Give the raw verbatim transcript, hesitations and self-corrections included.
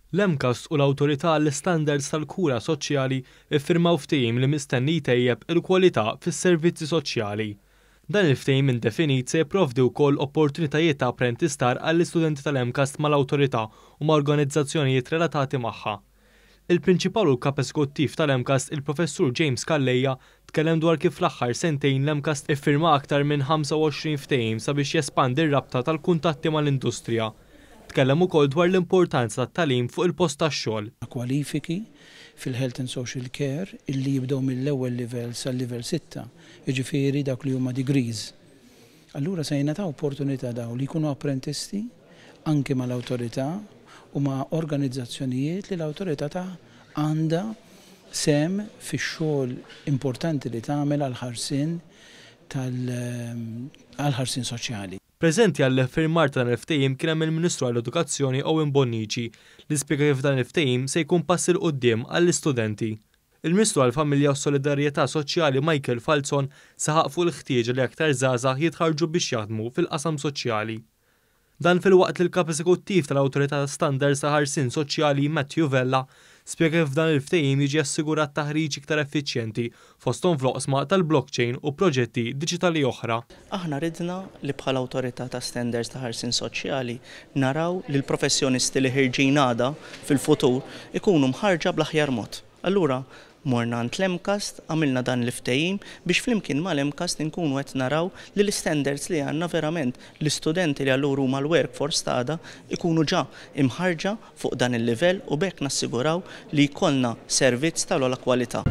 L-MCAST u l-Awtorità għall-Istandards tal-Kura Soċjali iffirmaw ftehim li mistenni jtejjeb il-kwalità fis-servizzi soċjali. Dan il-ftehim indefinit se jipprovdi wkoll opportunitajiet ta' apprentistar għall-istudenti tal-MCAST mal-awtorità u ma' organizzazzjonijiet relatati magħha. Il-Prinċipal u l-Kap Eżekuttiv tal-MCAST, il-Professur James Calleja, tkellem dwar kif fl-aħħar sentejn l-MCAST iffirma aktar minn ħamsa u għoxrin ftehim sabiex jespandi r-rabta tal-kuntatti mal-industrija. Tkellem ukoll dwar l-importanza tat-tagħlim fuq il-post tax-xogħol. Kwalifiki fil-Health and Social Care illi jibdew mill-ewwel livell sal-livell sitta, jiġifieri dawk li huma degrees. Allura se jingħataw opportunità daw li jkunu apprentisti anke mal-awtorità u ma' organizzazzjonijiet li l-awtorità ta' għandha sem fix-xogħol importanti li tagħmel għall-ħarsien tal-ħarsien soċjali. Preżenti għall-iffirmar ta' dan il-ftehim kien hemm il-Ministru għall-Edukazzjoni Owen Bonnici li spjega kif dan il-ftehim se jkun pass 'il quddiem għall-istudenti. Il-Ministru għall-Familja u Solidarjetà Soċjali Michael Falzon saħaq fuq il-ħtieġa li aktar żgħażagħ jitħarġu biex jaħdmu fil-qasam soċjali. Dan filwaqt li l-Kap Eżekuttiv tal-Awtorità Standards ta' Ħarsien Soċjali Matthew Vella spjega kif dan il-ftehim jiġi assigurat taħriġ iktar effiċjenti fosthom fl-oqsma tal-blockchain u proġetti diġitali oħra. Aħna ridna li bħala Awtorità ta' Standards ta' Ħarsien Soċjali naraw li l-professjonisti li ħirġin għada fil-futur ikunu mħarġa bl-aħjar mod. Allura morna għand l-MCAST, għamilna dan l-ftehim biex flimkien mal-MCAST inkunu qed naraw li l-standards li għandna verament l-istudenti li allura huma l-workforce ta' għada ikunu ġa imħarġa fuq dan il-livell u b'hekk nassiguraw li jkollna servizz tal-ogħla kwalità.